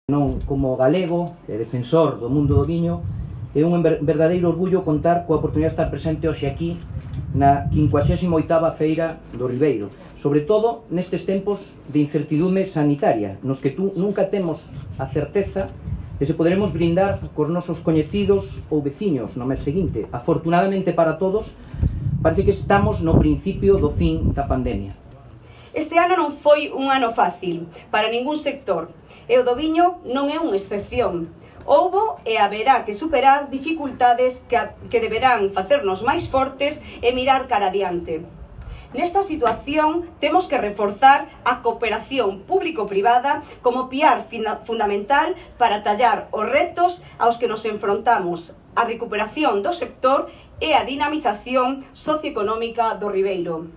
Non como galego e defensor do mundo do viño, é un verdadeiro orgullo contar coa oportunidade de estar presente hoxe aquí na 58ª Feira do Ribeiro, sobre todo nestes tempos de incertidume sanitaria, nos que nunca temos a certeza de se poderemos brindar cos nosos coñecidos ou veciños no mes seguinte. Afortunadamente para todos, parece que estamos no principio do fin da pandemia. Este ano non foi un ano fácil para ningún sector, e o do viño non é unha excepción. Houbo e haberá que superar dificultades que deberán facernos máis fortes e mirar cara adiante. Nesta situación temos que reforzar a cooperación público-privada como piar fundamental para tallar os retos aos que nos enfrontamos, a recuperación do sector e a dinamización socioeconómica do Ribeiro.